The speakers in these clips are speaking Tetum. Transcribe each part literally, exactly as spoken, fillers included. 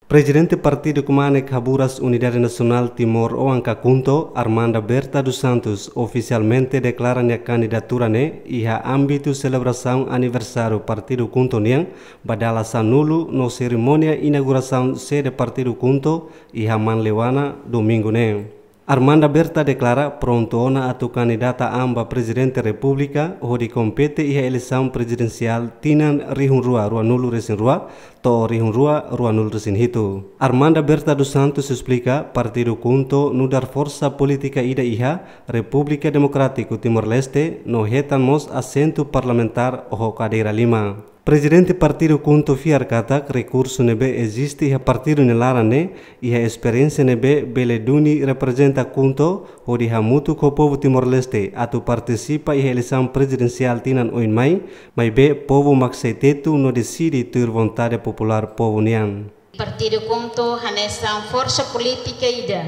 Prezidente Partidu Kmanek Haburas Unidade Nasionál Timor-Oan ka KHUNTO, Armanda Berta dos Santos, ofisialmente deklara nia kandidatura ne'e iha ámbitu selebrasaun aniversáriu Partidu KHUNTO nian ba dala sanulu no serimónia inaugurasaun sede Partidu KHUNTO iha Manleuana, domingu ne'e. Armanda Berta deklara prontu ona atu kandidata an ba Prezidente Repúblika hodi kompete iha eleisaun prezidensiál tinan rihun rua ruanulu resin rua to'o rihun rua ruanulu resin hitu. Armanda Berta dos Santos esplika, Partidu KHUNTO nu'udar forsa polítika ida iha Repúblika Demokrátiku Timor-Leste no hetan mós asentu parlamentár ho kadeira lima. Prezidente Partidu KHUNTO fiar katak rekursu ne'ebé eziste iha partidu nia laran ne'e iha esperiénsia ne'ebé bele duni reprezenta KHUNTO hodi hamutuk ho povu Timor-Leste atu partisipa iha eleisaun prezidensiál tinan oin mai, maibé povu mak sei tetu no deside tuir vontade populár povu nian. Partidu KHUNTO hanesan forsa polítika ida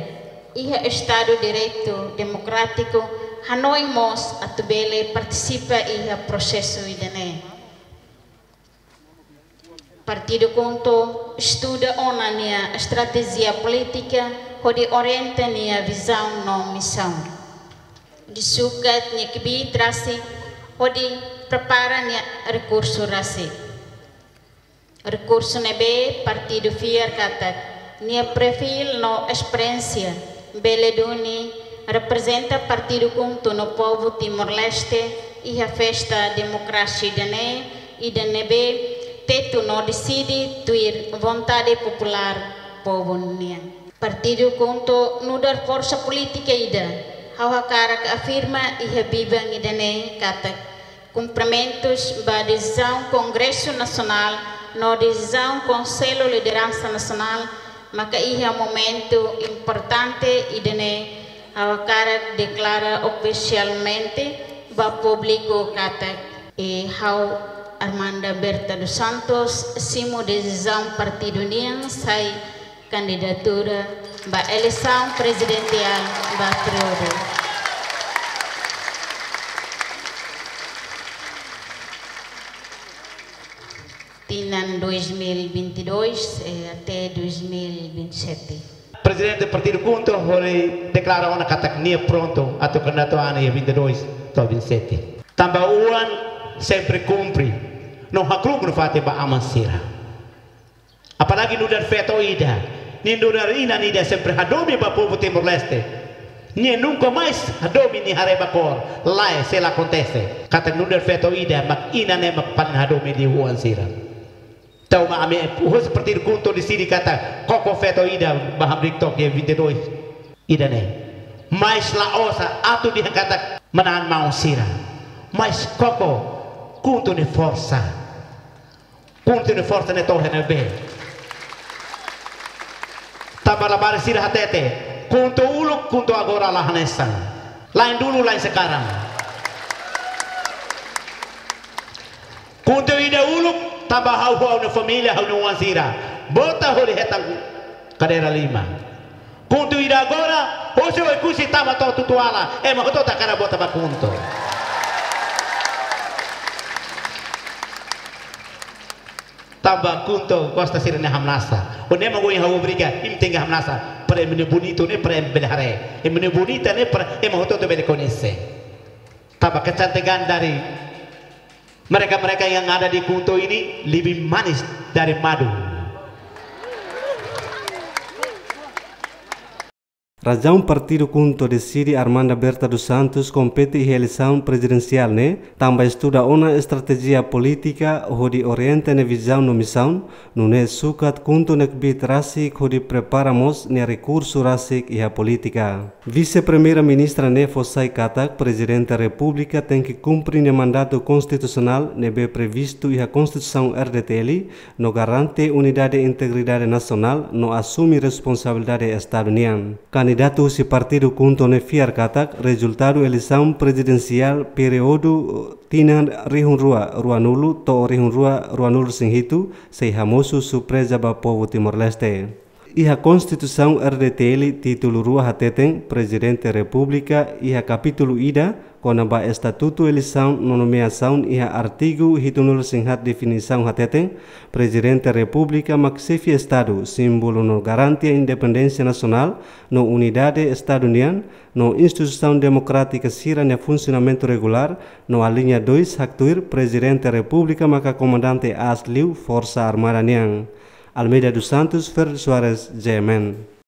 iha Estadu Direitu Demokrátiku hanoin mós atu bele partisipa iha prosesu ida-ne'e. Partidu KHUNTO estuda ona nia estratéjia polítika hodi orienta nia vizaun no misaun. Hodi sukat nia kbiit rasik hodi prepara nia rekursu rasik. Rekursu ne'ebé partidu fiar katak nia perfíl no esperiénsia bele duni reprezenta Partidu KHUNTO no povu Timor-Leste iha festa demokrasia ida-ne'e, ida ne'ebé tetu no deside tuir vontade populár povu nian. Partidu KHUNTO nu'udar forsa polítika ida, ha'u hakarak afirma iha biban ida-ne'e katak kumprimentus ba desizaun Kongresu Nasionál no desizaun Konsellu Lideransa Nasionál maka iha momentu importante ida-ne'e ha'u hakarak deklara ofisialmente ba públiku katak, eh, ha'u Armanda Berta dos Santos simu desizaun partidu nian sai kandidatura ba eleisaun prezidensiál ba períodu tinan dois mil e vinte e dois, eh, até dois mil e vinte e sete. Prezidente Partidu KHUNTO hodi deklara ona katak nia prontu atu kandidatu an iha vinte e dois to'o vinte e sete. Tanba oan sempre kumpre no hakru'uk nafatin ba aman sira. Apalagi nu'udar feto ida, nia nu'udar inan ida sempre hadomi ba povu Timor-Leste. Nia nunka mais hadomi nia haree ba kór, lae, sei la akontese. Katak nu'udar feto ida, mak inan ne'e mak paling hadomi liu oan sira. Entaun mak ami husi Partidu KHUNTO deside katak koko feto ida ba hamriik took iha vinte e dois ida-ne'e. Mais la'ós atu dehan katak manán maun sira. Mais koko KHUNTO nia forsa. KHUNTO nia forsa ne'e to'o iha ne'ebé. Tanba labarik sira hatete, KHUNTO uluk, KHUNTO agora la hanesan. La'en dulu, la'en sekarang. KHUNTO ida uluk, tanba ha'u ho ha'u-nia família, ha'u-nia oan sira vota hodi hetan kadeira lima. KHUNTO ida agora, hosi Oekusi tama to'o Tutuala, ema hotu hakarak vota ba KHUNTO. Tanba KHUNTO gosta sira-nia hamnasa. Ó ne'e mak ohin ha'u obriga, imi tenke hamnasa. Para imi-nia bonitu ne'e, para ema bele haree. Imi-nia bonita ne'e, para ema hotu-hotu bele koñese. Tanba kecantikan dari mereka-mereka yang ada di KHUNTO ini lebih manis dari madu. Razaun Partidu KHUNTO deside Armanda Berta dos Santos kompete iha eleisaun prezidensiál ne'e, tanba estuda ona estratéjia polítika hodi orienta nia vizaun no misaun, nune'e sukat KHUNTO nia kbiit rasik hodi prepara mós nia rekursu rasik iha polítika. Vise-Primeira-Ministra ne'e fó sai katak Prezidente Repúblika tenke kumpre nia mandatu konstitusionál ne'ebé previstu iha Konstituisaun R D T L, no garante unidade e integridade nasionál no asume responsabilidade Estadu nian. Kandidatu husi Partidu KHUNTO ne'e fiar katak rezultadu eleisaun prezidensiál períodu tinan rihun rua ruanulu to'o rihun rua ruanulu resin hitu sei hamosu surpreza ba povu Timor-Leste. Iha Konstituisaun R D T L títulu rua hateten Prezidente Repúblika iha kapítulu ida, Kona-ba estatutu, eleisaun no nomeasaun, iha artigu hitunulu-resin-haat definisaun hateten, Prezidente Repúblika mak xefe Estadu, símbolu no garantia independénsia nasionál no unidade Estadu nian, no instituisaun demokrátika sira-nia funsionamentu regulár, no aliña dois haktuir Prezidente Repúblika maka komandante aas liu Forsa Armada nian. Almeida dos Santos, Ferdi Soares, G M N.